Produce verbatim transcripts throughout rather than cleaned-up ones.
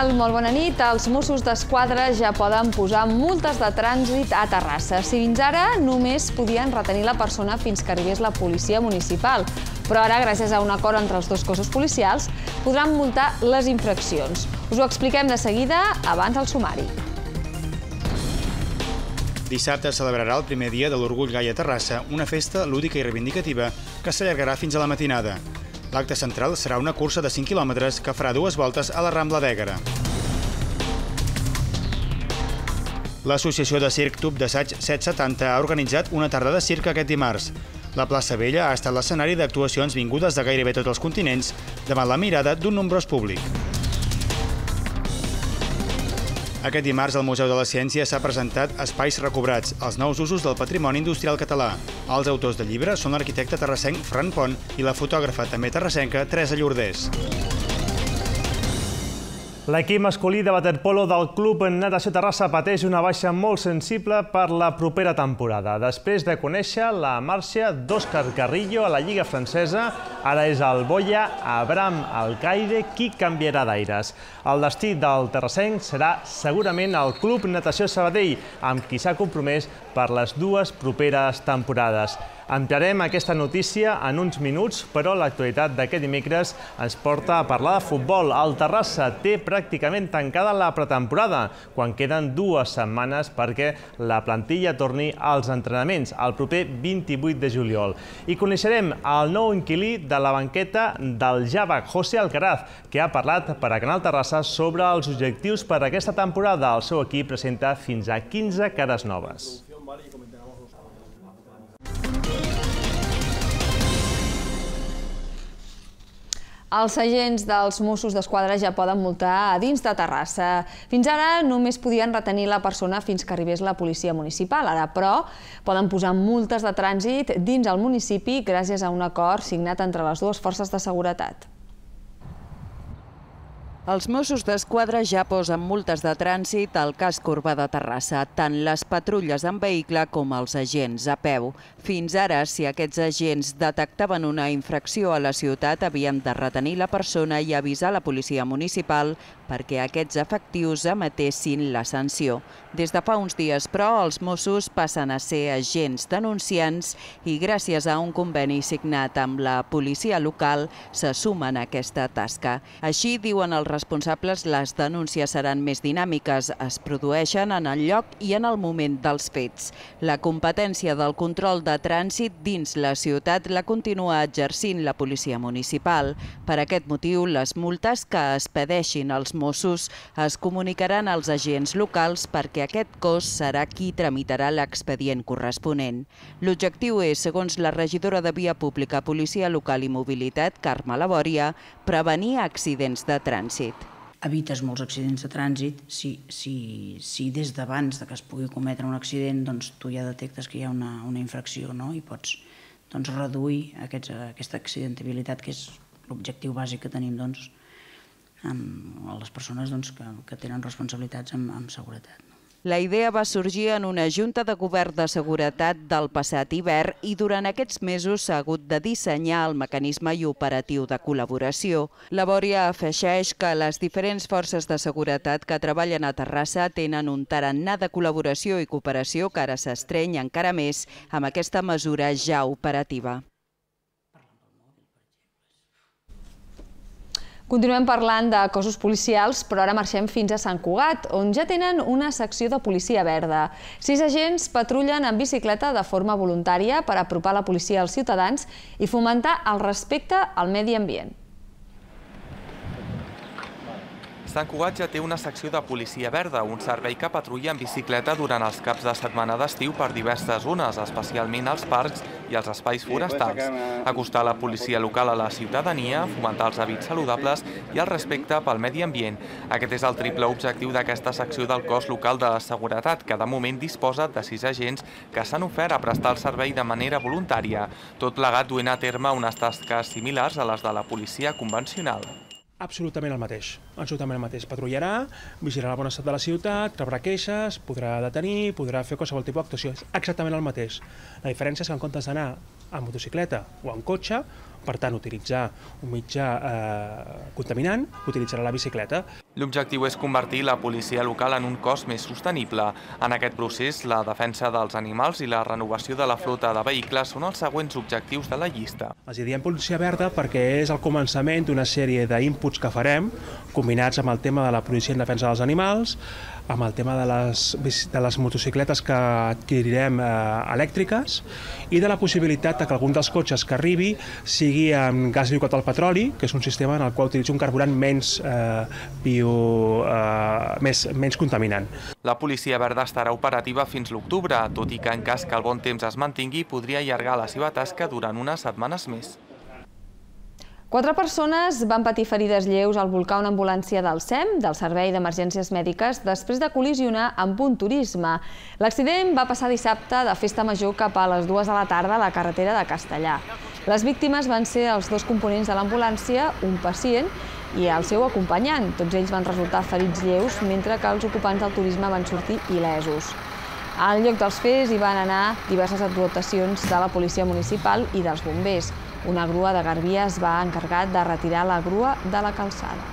tal? Molt bona nit. Els Mossos d'Esquadra ja poden posar multes de trànsit a Terrassa. Si fins ara només podien retenir la persona fins que arribés la policia municipal. Però ara, gràcies a un acord entre els dos cossos policials, podran multar les infraccions. Us ho expliquem de seguida, abans el sumari. Dissabte celebrarà el primer dia de l'Orgull Gai a Terrassa, una festa lúdica i reivindicativa que s'allargarà fins a la matinada. L'acte central serà una cursa de cinc quilòmetres que farà dues voltes a la Rambla d'Ègara. L'Associació de Circ Tub d'Assaig set setanta ha organitzat una tarda de circ aquest dimarts. La plaça Vella ha estat l'escenari d'actuacions vingudes de gairebé tots els continents davant la mirada d'un nombrós públic. Aquest dimarts al Museu de la Ciència s'ha presentat Espais recobrats, els nous usos del patrimoni industrial català. Els autors del llibre són l'arquitecte terrassenc Ferran Pont i la fotògrafa també terrassenca Teresa Llordés. L'equip masculí de waterpolo del Club Natació Terrassa pateix una baixa molt sensible per la propera temporada. Després de conèixer la marxa d'Òscar Carrillo a la Lliga Francesa, ara és el boia Abraham Alcaide qui canviarà d'aires. El destí del terrassenc serà segurament el Club Natació Sabadell, amb qui s'ha compromès per les dues properes temporades. Ampliarem aquesta notícia en uns minuts, però l'actualitat d'aquest dimecres ens porta a parlar de futbol. El Terrassa té pràcticament tancada la pretemporada, quan queden dues setmanes perquè la plantilla torni als entrenaments el proper vint-i-vuit de juliol. I coneixerem el nou inquilí de la banqueta del Javac, José Alcaraz, que ha parlat per a Canal Terrassa sobre els objectius per a aquesta temporada. El seu equip presenta fins a quinze cares noves. Els agents dels Mossos d'Esquadra ja poden multar a dins de Terrassa. Fins ara només podien retenir la persona fins que arribés la policia municipal. Ara, però, poden posar multes de trànsit dins el municipi gràcies a un acord signat entre les dues forces de seguretat. Els Mossos d'Esquadra ja posen multes de trànsit al casc urbà de Terrassa, tant les patrulles en vehicle com els agents a peu. Fins ara, si aquests agents detectaven una infracció a la ciutat, havien de retenir la persona i avisar la policia municipal perquè aquests efectius emetessin la sanció. Des de fa uns dies, però, els Mossos passen a ser agents denunciants i gràcies a un conveni signat amb la policia local se sumen a aquesta tasca. Així, diuen els responsables, les denúncies seran més dinàmiques, es produeixen en el lloc i en el moment dels fets. La competència del control de trànsit dins la ciutat la continua exercint la policia municipal. Per aquest motiu, les multes que expedeixin els Mossos es comunicaran als agents locals perquè aquest cos serà qui tramitarà l'expedient corresponent. L'objectiu és, segons la regidora de Via Pública, Policia Local i Mobilitat, Carme Labòria, prevenir accidents de trànsit. Evites molts accidents de trànsit si, si, si des d'abans de que es pugui cometre un accident doncs, tu ja detectes que hi ha una, una infracció, no? I pots doncs, reduir aquests, aquesta accidentabilitat, que és l'objectiu bàsic que tenim doncs, amb les persones doncs, que, que tenen responsabilitats amb, amb seguretat. La idea va sorgir en una junta de govern de seguretat del passat hivern i durant aquests mesos s'ha hagut de dissenyar el mecanisme i operatiu de col·laboració. Labòria afegeix que les diferents forces de seguretat que treballen a Terrassa tenen un tarannà de col·laboració i cooperació que ara s'estreny encara més amb aquesta mesura ja operativa. Continuem parlant de cossos policials, però ara marxem fins a Sant Cugat, on ja tenen una secció de policia verda. Sis agents patrullen en bicicleta de forma voluntària per apropar la policia als ciutadans i fomentar el respecte al medi ambient. Sant Cugat ja té una secció de policia verda, un servei que patrulla en bicicleta durant els caps de setmana d'estiu per diverses zones, especialment als parcs i als espais forestals. Acostar la policia local a la ciutadania, fomentar els hàbits saludables i el respecte pel medi ambient. Aquest és el triple objectiu d'aquesta secció del cos local de la seguretat, que de moment disposa de sis agents que s'han ofert a prestar el servei de manera voluntària, tot plegat duent a terme unes tasques similars a les de la policia convencional. Absolutament el mateix, absolutament el mateix. Patrullarà, vigilarà el bon estat de la ciutat, rebrà queixes, podrà detenir, podrà fer qualsevol tipus d'actuació. És exactament el mateix. La diferència és que en comptes d'anar en motocicleta o en cotxe, per tant, utilitzar un mitjà eh, contaminant, utilitzarà la bicicleta. L'objectiu és convertir la policia local en un cos més sostenible. En aquest procés, la defensa dels animals i la renovació de la flota de vehicles són els següents objectius de la llista. Els diem policia verda perquè és el començament d'una sèrie d'inputs que farem, combinats amb el tema de la policia en defensa dels animals, amb el tema de les, de les motocicletes que adquirirem eh, elèctriques i de la possibilitat que algun dels cotxes que arribi sigui amb gas liquat al petroli, que és un sistema en el qual utilitza un carburant menys, eh, bio, eh, més, menys contaminant. La policia verda estarà operativa fins l'octubre, tot i que en cas que el bon temps es mantingui podria allargar la seva tasca durant unes setmanes més. Quatre persones van patir ferides lleus al volcar una ambulància del S E M, del Servei d'Emergències Mèdiques, després de col·lisionar amb un turisme. L'accident va passar dissabte de festa major cap a les dues de la tarda a la carretera de Castellar. Les víctimes van ser els dos components de l'ambulància, un pacient i el seu acompanyant. Tots ells van resultar ferits lleus, mentre que els ocupants del turisme van sortir il·lesos. Al lloc dels fets hi van anar diverses dotacions de la policia municipal i dels bombers. Una grua de Garbia es va encarregar de retirar la grua de la calçada.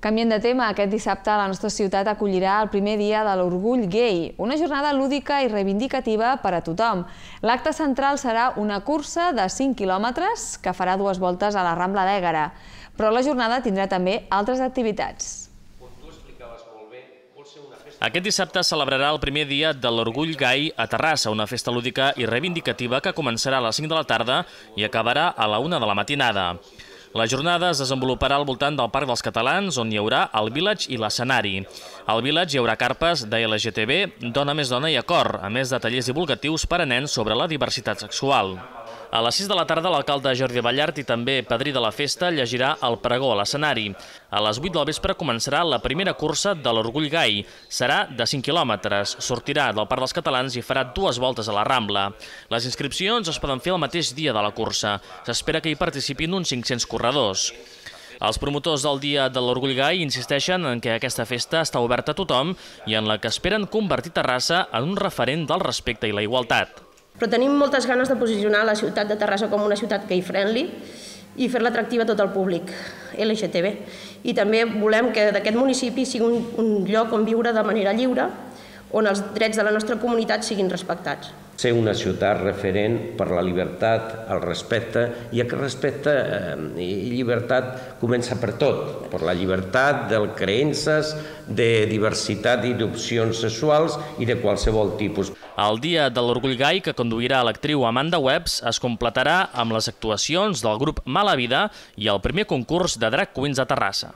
Canviant de tema, aquest dissabte la nostra ciutat acollirà el primer dia de l'Orgull Gai, una jornada lúdica i reivindicativa per a tothom. L'acte central serà una cursa de cinc quilòmetres que farà dues voltes a la Rambla d'Ègara, però la jornada tindrà també altres activitats. Aquest dissabte celebrarà el primer dia de l'Orgull Gai a Terrassa, una festa lúdica i reivindicativa que començarà a les cinc de la tarda i acabarà a la una de la matinada. La jornada es desenvoluparà al voltant del Parc dels Catalans, on hi haurà el Village i l'escenari. Al Village hi haurà carpes de L G T B, Dona més dona i Acord, a més de tallers divulgatius per a nens sobre la diversitat sexual. A les sis de la tarda, l'alcalde Jordi Ballart i també padrí de la festa llegirà el pregó a l'escenari. A les vuit del vespre començarà la primera cursa de l'Orgull Gai. Serà de cinc quilòmetres, sortirà del Parc dels Catalans i farà dues voltes a la Rambla. Les inscripcions es poden fer el mateix dia de la cursa. S'espera que hi participin uns cinc-cents corredors. Els promotors del Dia de l'Orgull Gai insisteixen en que aquesta festa està oberta a tothom i en la que esperen convertir Terrassa en un referent del respecte i la igualtat. Però tenim moltes ganes de posicionar la ciutat de Terrassa com una ciutat gay-friendly i fer-la atractiva a tot el públic L G T B. I també volem que d'aquest municipi sigui un, un lloc on viure de manera lliure, on els drets de la nostra comunitat siguin respectats. Ser una ciutat referent per la llibertat, el respecte, i aquest respecte i llibertat comença per tot, per la llibertat de creences, de diversitat i d'opcions sexuals i de qualsevol tipus. El Dia de l'Orgull Gai, que conduirà l'actriu Amanda Webs, es completarà amb les actuacions del grup Mala Vida i el primer concurs de Drag Queens a Terrassa.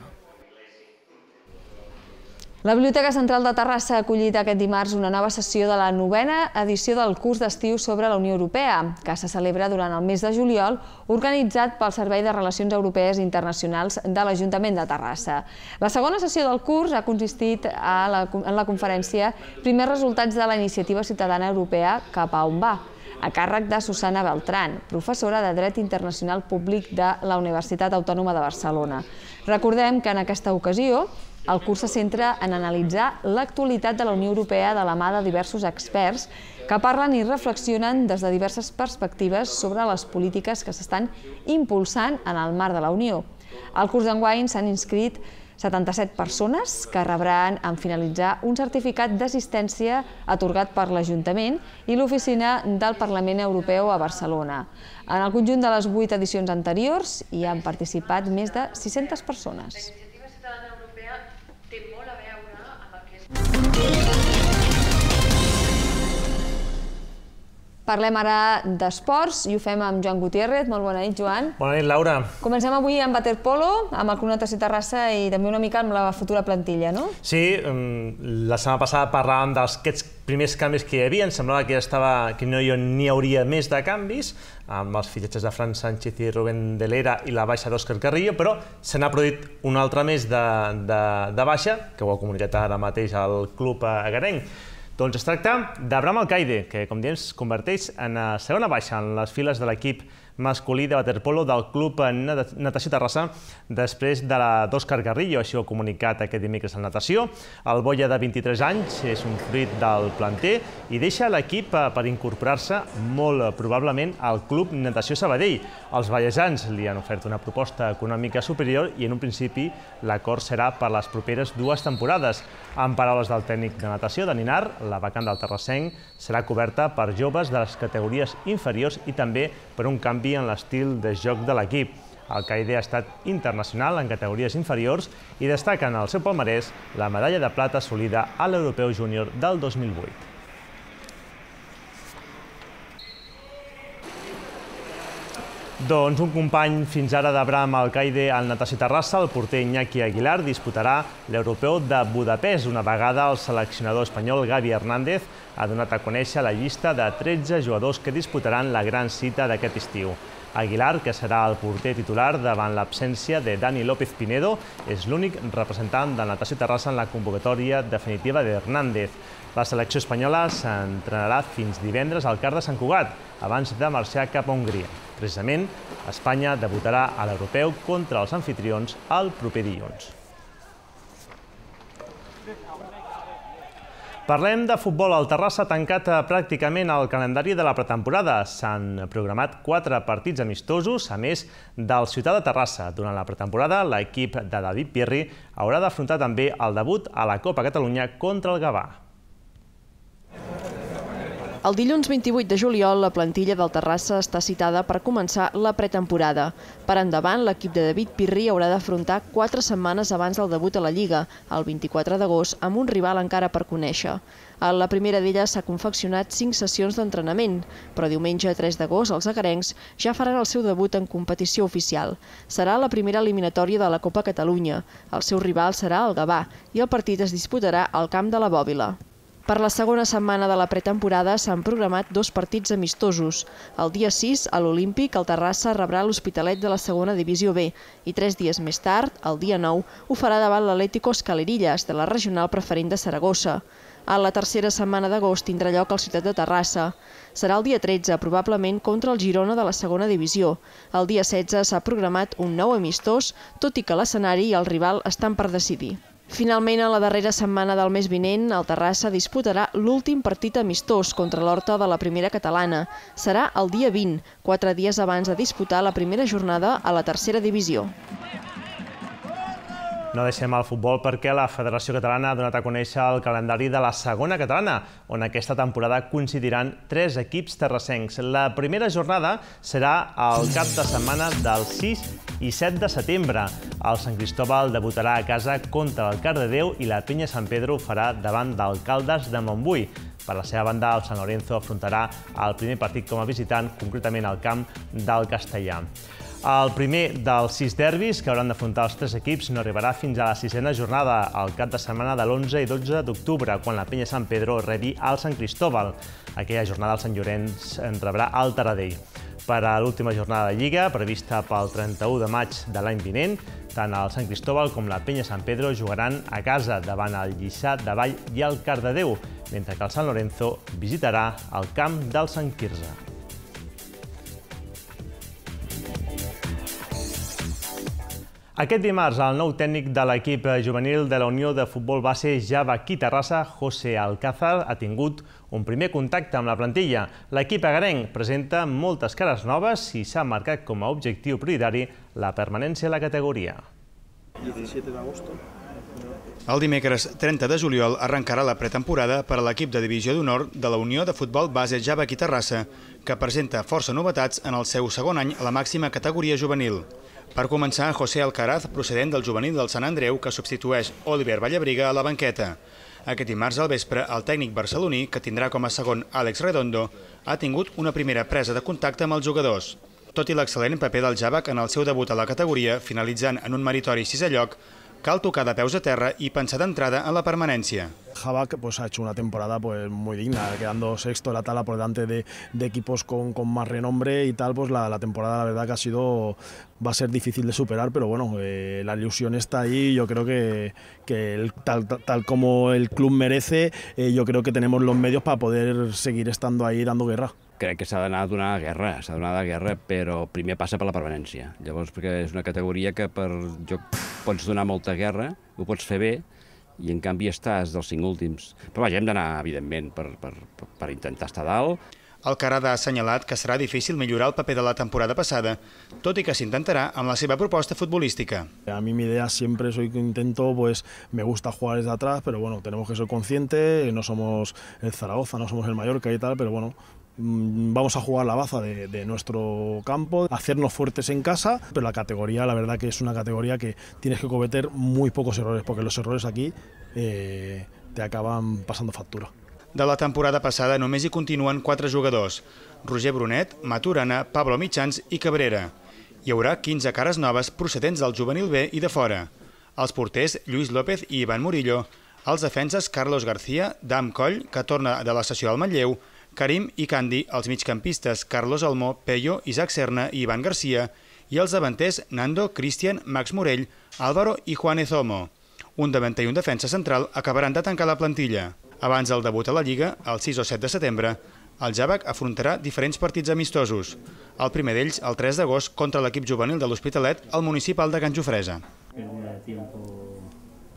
La Biblioteca Central de Terrassa ha acollit aquest dimarts una nova sessió de la novena edició del curs d'estiu sobre la Unió Europea, que se celebra durant el mes de juliol, organitzat pel Servei de Relacions Europees i Internacionals de l'Ajuntament de Terrassa. La segona sessió del curs ha consistit en la conferència Primers resultats de la Iniciativa Ciutadana Europea cap a on va, a càrrec de Susana Beltrán, professora de Dret Internacional Públic de la Universitat Autònoma de Barcelona. Recordem que en aquesta ocasió el curs se centra en analitzar l'actualitat de la Unió Europea de la mà de diversos experts que parlen i reflexionen des de diverses perspectives sobre les polítiques que s'estan impulsant en el marc de la Unió. Al curs d'enguany s'han inscrit setanta-set persones que rebran en finalitzar un certificat d'assistència atorgat per l'Ajuntament i l'Oficina del Parlament Europeu a Barcelona. En el conjunt de les vuit edicions anteriors hi han participat més de sis-centes persones. Parlem ara d'esports i ho fem amb Joan Gutiérrez. Molt bona nit, Joan. Bona nit, Laura. Comencem avui amb waterpolo, amb el Club Natació Terrassa i també una mica amb la futura plantilla, no? Sí, la setmana passada parlàvem d'aquests primers canvis que hi havia. Em semblava que, estava, que no n'hi hauria més de canvis, amb els fitxatges de Fran Sánchez i Rubén de l'Era i la baixa d'Òscar Carrillo, però se n'ha produït un altre mes de, de, de baixa, que ho ha comunicat ara mateix el club agarenc. Doncs es tracta d'Abraham Alcaide, que, com diem, es converteix en segona baixa en les files de l'equip masculí de waterpolo del Club Natació Terrassa després de l'Òscar Garrillo, així ho ha comunicat aquest dimecres en natació. El Boia, de vint-i-tres anys, és un fruit del planter i deixa l'equip per incorporar-se molt probablement al Club Natació Sabadell. Els vallesans li han ofert una proposta econòmica superior i en un principi l'acord serà per les properes dues temporades. En paraules del tècnic de natació, de Ninar, la vacant del terrassenc serà coberta per joves de les categories inferiors i també per un canvi en l'estil de joc de l'equip. Alcaide ha estat internacional en categories inferiors i destaca en el seu palmarès la medalla de plata assolida a l'Europeu Júnior del dos mil vuit. Doncs un company fins ara d'Abraham Alcaide al Natació Terrassa, el porter Iñaki Aguilar, disputarà l'Europeu de Budapest. Una vegada el seleccionador espanyol Gavi Hernández ha donat a conèixer la llista de tretze jugadors que disputaran la gran cita d'aquest estiu. Aguilar, que serà el porter titular davant l'absència de Dani López Pinedo, és l'únic representant del Natació Terrassa en la convocatòria definitiva d'Hernández. La selecció espanyola s'entrenarà fins divendres al Car de Sant Cugat, abans de marxar cap a Hongria. Precisament, Espanya debutarà a l'Europeu contra els anfitrions el proper dilluns. Parlem de futbol. El Terrassa ha tancat pràcticament el calendari de la pretemporada. S'han programat quatre partits amistosos, a més del Ciutat de Terrassa. Durant la pretemporada, l'equip de David Pirri haurà d'afrontar també el debut a la Copa Catalunya contra el Gavà. El dilluns vint-i-vuit de juliol, la plantilla del Terrassa està citada per començar la pretemporada. Per endavant, l'equip de David Pirri haurà d'afrontar quatre setmanes abans del debut a la Lliga, el vint-i-quatre d'agost, amb un rival encara per conèixer. A la primera d'elles s'ha confeccionat cinc sessions d'entrenament, però diumenge tres d'agost els agarencs ja faran el seu debut en competició oficial. Serà la primera eliminatòria de la Copa Catalunya. El seu rival serà el Gavà i el partit es disputarà al camp de la Bòbila. Per la segona setmana de la pretemporada s'han programat dos partits amistosos. El dia sis, a l'Olímpic, el Terrassa rebrà l'Hospitalet de la segona divisió B i tres dies més tard, el dia nou, ho farà davant l'Atlético Escalerillas, de la regional preferent de Saragossa. A la tercera setmana d'agost tindrà lloc el Ciutat de Terrassa. Serà el dia tretze, probablement contra el Girona de la segona divisió. El dia setze s'ha programat un nou amistós, tot i que l'escenari i el rival estan per decidir. Finalment, a la darrera setmana del mes vinent, el Terrassa disputarà l'últim partit amistós contra l'Horta de la primera catalana. Serà el dia vint, quatre dies abans de disputar la primera jornada a la tercera divisió. No deixem el futbol perquè la Federació Catalana ha donat a conèixer el calendari de la segona catalana, on aquesta temporada coincidiran tres equips terrassencs. La primera jornada serà el cap de setmana del sis i set de setembre. El Sant Cristóbal debutarà a casa contra el Cardedeu i la Penya Sant Pedro ho farà davant del Caldes de Montbui. Per la seva banda, el Sant Lorenzo afrontarà el primer partit com a visitant, concretament al camp del Castellà. El primer dels sis derbis que hauran d'afrontar els tres equips no arribarà fins a la sisena jornada, al cap de setmana de l'onze i dotze d'octubre, quan la Penya Sant Pedro rebi al Sant Cristóbal. Aquella jornada el Sant Llorenç en rebrà al Taradell. Per a l'última jornada de Lliga, prevista pel trenta-u de maig de l'any vinent, tant el Sant Cristóbal com la Penya Sant Pedro jugaran a casa davant el Lliçà de Vall i el Cardedeu, mentre que el Sant Lorenzo visitarà el camp del Sant Quirze. Aquest dimarts, el nou tècnic de l'equip juvenil de la Unió de Futbol Base Javaquí Terrassa, José Alcázar, ha tingut un primer contacte amb la plantilla. L'equip agarenc presenta moltes cares noves i s'ha marcat com a objectiu prioritari la permanència a la categoria. El dimecres trenta de juliol arrencarà la pretemporada per a l'equip de divisió d'honor de la Unió de Futbol Base Javaquí Terrassa, que presenta força novetats en el seu segon any a la màxima categoria juvenil. Per començar, José Alcaraz, procedent del juvenil del Sant Andreu, que substitueix Oliver Vallabriga a la banqueta. Aquest dimarts al vespre, el tècnic barceloní, que tindrà com a segon Àlex Redondo, ha tingut una primera presa de contacte amb els jugadors. Tot i l'excel·lent paper del Javac en el seu debut a la categoria, finalitzant en un meritori sisè lloc, cal tocar de peus a terra i pensar d'entrada en la permanència. Havak pues, ha hecho una temporada pues, muy digna, quedando sexto de la tabla por delante de, de equipos con, con más renombre y tal, pues la, la temporada la verdad que ha sido, va a ser difícil de superar, pero bueno, eh, la ilusión está ahí y yo creo que, que el, tal, tal como el club merece, eh, yo creo que tenemos los medios para poder seguir estando ahí dando guerra. Crec que s'ha d'anar a donar guerra, s'ha d'anar a donar guerra, però primer passa per la permanència. Llavors, perquè és una categoria que per joc pots donar molta guerra, ho pots fer bé, i en canvi estàs dels cinc últims. Però vaja, hem d'anar, evidentment, per, per, per intentar estar dalt. Alcaraz ha assenyalat que serà difícil millorar el paper de la temporada passada, tot i que s'intentarà amb la seva proposta futbolística. A mí mi idea siempre soy que intento, pues me gusta jugar desde atrás, pero bueno, tenemos que ser conscientes, no somos el Zaragoza, no somos el Mallorca y tal, pero bueno, vamos a jugar la baza de, de nuestro campo, hacernos fuertes en casa, pero la categoría, la verdad que es una categoría que tienes que cometer muy pocos errores, porque los errores aquí eh, te acaban pasando factura. De la temporada passada només hi continuen quatre jugadors: Roger Brunet, Maturana, Pablo Mitjans i Cabrera. Hi haurà quinze cares noves procedents del juvenil B i de fora. Els porters Lluís López i Ivan Murillo, els defenses Carlos García, Dam Coll, que torna de la sessió al Manlleu, Karim i Candi, els migcampistes Carlos Almó, Pello, Isaac Serna i Ivan Garcia, i els davanters Nando, Cristian, Max Morell, Álvaro i Juan Ezomo. Un davanter i un defensa central acabaran de tancar la plantilla. Abans del debut a la Lliga, el sis o set de setembre, el Javac afrontarà diferents partits amistosos. El primer d'ells, el tres d'agost, contra l'equip juvenil de l'Hospitalet, al municipal de Can Jofresa.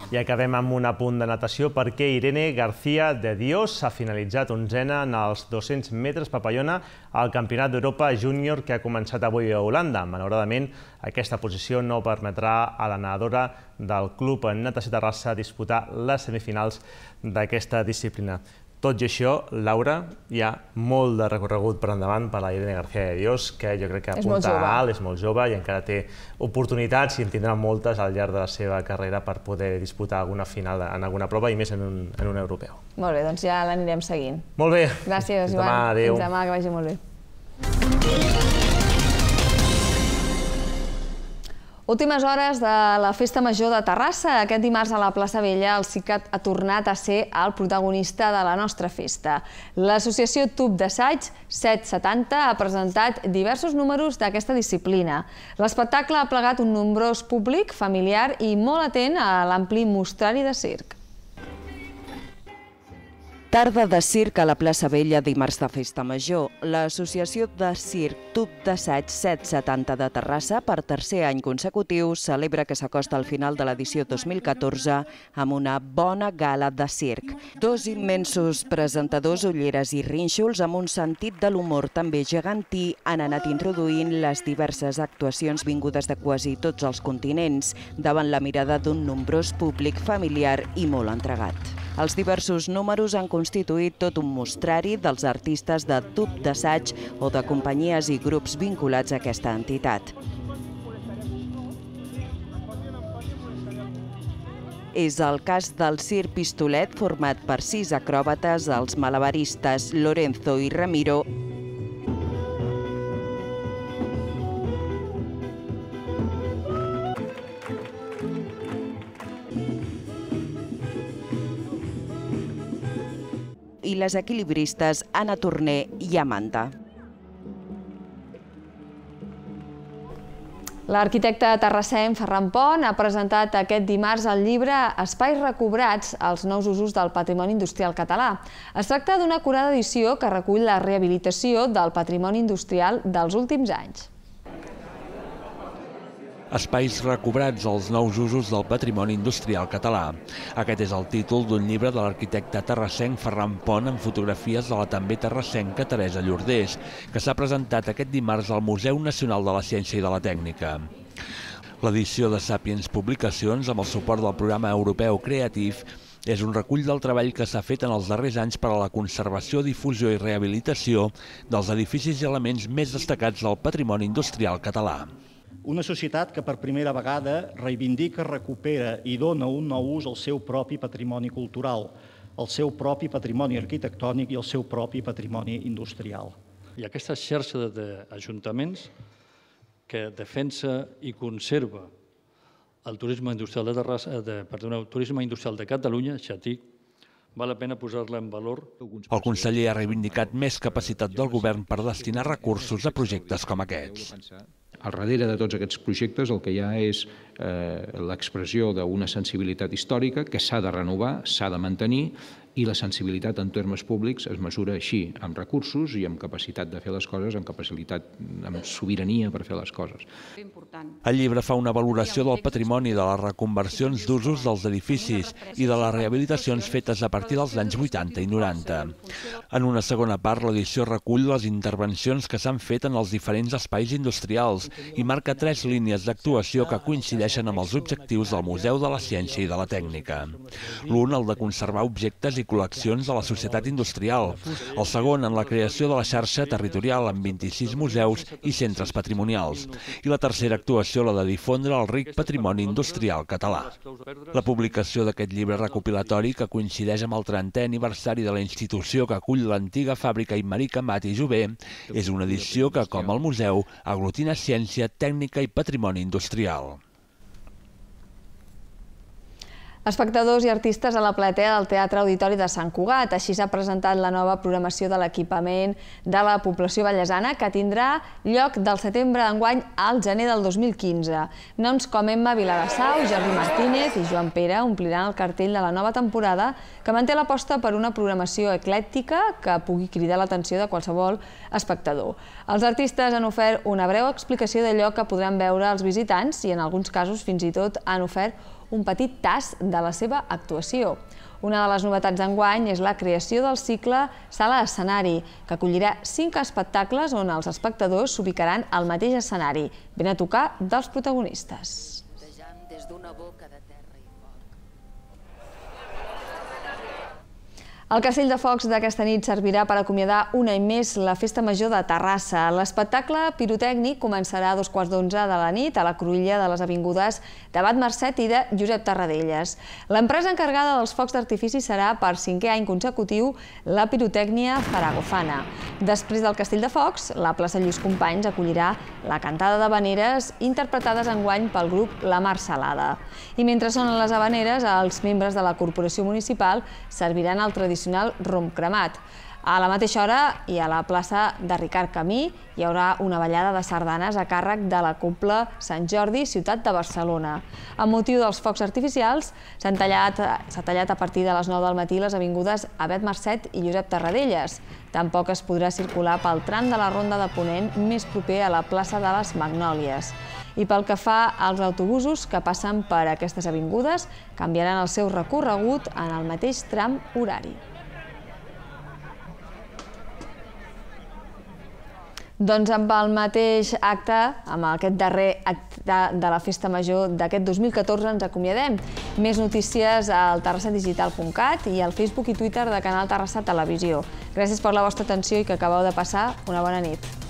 I acabem amb un apunt de natació perquè Irene García de Dios ha finalitzat onzena en els dos-cents metres papallona al Campionat d'Europa Júnior que ha començat avui a Holanda. Malauradament, aquesta posició no permetrà a la nedadora del Club Natació Terrassa disputar les semifinals d'aquesta disciplina. Tot i això, Laura, hi ha molt de recorregut per endavant per la Irene García de Dios, que jo crec que apunta alt, és molt jove i encara té oportunitats i en tindrà moltes al llarg de la seva carrera per poder disputar alguna final en alguna prova i més en un, en un europeu. Molt bé, doncs ja l'anirem seguint. Molt bé. Gràcies, Fins Joan. demà, adéu. Fins demà, que vagi molt bé. Últimes hores de la Festa Major de Terrassa. Aquest dimarts a la plaça Vella el CICAT ha tornat a ser el protagonista de la nostra festa. L'associació Tub d'Assaig set setanta ha presentat diversos números d'aquesta disciplina. L'espectacle ha plegat un nombrós públic familiar i molt atent a l'ampli mostrari de circ. Tarda de circ a la plaça Vella dimarts de Festa Major. L'associació de circ Tub d'Assaig set setanta de Terrassa, per tercer any consecutiu, celebra que s'acosta al final de l'edició dos mil catorze amb una bona gala de circ. Dos immensos presentadors, ulleres i rínxols amb un sentit de l'humor també gegantí han anat introduint les diverses actuacions vingudes de quasi tots els continents davant la mirada d'un nombrós públic familiar i molt entregat. Els diversos números han constituït tot un mostrari dels artistes de Tub d'Assaig o de companyies i grups vinculats a aquesta entitat. És el cas del circ Pistolet, format per sis acròbates, els malabaristes Lorenzo i Ramiro, i les equilibristes Anna Torner i Amanda. L'arquitecte terrassenc Ferran Pont ha presentat aquest dimarts el llibre Espais recobrats, els nous usos del patrimoni industrial català. Es tracta d'una acurada edició que recull la rehabilitació del patrimoni industrial dels últims anys. Espais recobrats, els nous usos del patrimoni industrial català. Aquest és el títol d'un llibre de l'arquitecte terrassenc Ferran Pont amb fotografies de la també terrassenca Teresa Llordés, que s'ha presentat aquest dimarts al Museu Nacional de la Ciència i de la Tècnica. L'edició de Sàpiens Publicacions, amb el suport del programa europeu Creative, és un recull del treball que s'ha fet en els darrers anys per a la conservació, difusió i rehabilitació dels edificis i elements més destacats del patrimoni industrial català. Una societat que per primera vegada reivindica, recupera i dona un nou ús al seu propi patrimoni cultural, al seu propi patrimoni arquitectònic i al seu propi patrimoni industrial. I aquesta xarxa d'ajuntaments que defensa i conserva el turisme industrial de Terrassa, perdoneu, el turisme industrial de Catalunya, Xatic, val la pena posar-la en valor. El conseller ha reivindicat més capacitat del govern per destinar recursos a projectes com aquests. Al darrere de tots aquests projectes el que hi ha és l'expressió d'una sensibilitat històrica que s'ha de renovar, s'ha de mantenir, i la sensibilitat en termes públics es mesura així, amb recursos i amb capacitat de fer les coses, amb capacitat, amb sobirania per fer les coses. El llibre fa una valoració del patrimoni, de les reconversions d'usos dels edificis i de les rehabilitacions fetes a partir dels anys vuitanta i noranta. En una segona part, l'edició recull les intervencions que s'han fet en els diferents espais industrials i marca tres línies d'actuació que coincideixen amb els objectius del Museu de la Ciència i de la Tècnica. L'un, el de conservar objectes i col·leccions de la societat industrial. El segon, en la creació de la xarxa territorial amb vint-i-sis museus i centres patrimonials. I la tercera actuació, la de difondre el ric patrimoni industrial català. La publicació d'aquest llibre recopilatori, que coincideix amb el trentè aniversari de la institució que acull l'antiga fàbrica Imeric Amat i Jové, és una edició que, com el museu, aglutina ciència, tècnica i patrimoni industrial. Espectadors i artistes a la platea del Teatre Auditori de Sant Cugat. Així s'ha presentat la nova programació de l'equipament de la població vallesana, que tindrà lloc del setembre d'enguany al gener del dos mil quinze. Noms com Emma Vilarassau, Jordi Martínez i Joan Pere ompliran el cartell de la nova temporada, que manté l'aposta per una programació eclèctica que pugui cridar l'atenció de qualsevol espectador. Els artistes han ofert una breu explicació d'allò que podran veure els visitants i en alguns casos fins i tot han ofert un petit tast de la seva actuació. Una de les novetats d'enguany és la creació del cicle Sala Escenari, que acollirà cinc espectacles on els espectadors s'ubicaran al mateix escenari, ben a tocar dels protagonistes. El castell de focs d'aquesta nit servirà per acomiadar un any més la Festa Major de Terrassa. L'espectacle pirotècnic començarà a dos quarts d'onze de la nit a la cruïlla de les avingudes d'Abat Marcet i de Josep Tarradellas. L'empresa encarregada dels focs d'artifici serà per cinquè any consecutiu la pirotècnia Faragofana. Després del castell de focs, la plaça Lluís Companys acollirà la cantada d'havaneres interpretades enguany pel grup La Mar Salada. I mentre sonen les havaneres, els membres de la corporació municipal serviran el tradicional rom cremat. A la mateixa hora i a la plaça de Ricard Camí hi haurà una ballada de sardanes a càrrec de la Cobla Sant Jordi, ciutat de Barcelona. Amb motiu dels focs artificials, s'ha tallat, s'ha tallat a partir de les nou del matí les avingudes Abat Marcet i Josep Tarradellas. Tampoc es podrà circular pel tram de la Ronda de Ponent més proper a la plaça de les Magnòlies. I pel que fa als autobusos que passen per aquestes avingudes, canviaran el seu recorregut en el mateix tram horari. Doncs amb el mateix acte, amb aquest darrer acte de la Festa Major d'aquest dos mil catorze, ens acomiadem. Més notícies al terrassa digital punt cat i al Facebook i Twitter de Canal Terrassa Televisió. Gràcies per la vostra atenció i que acabeu de passar una bona nit.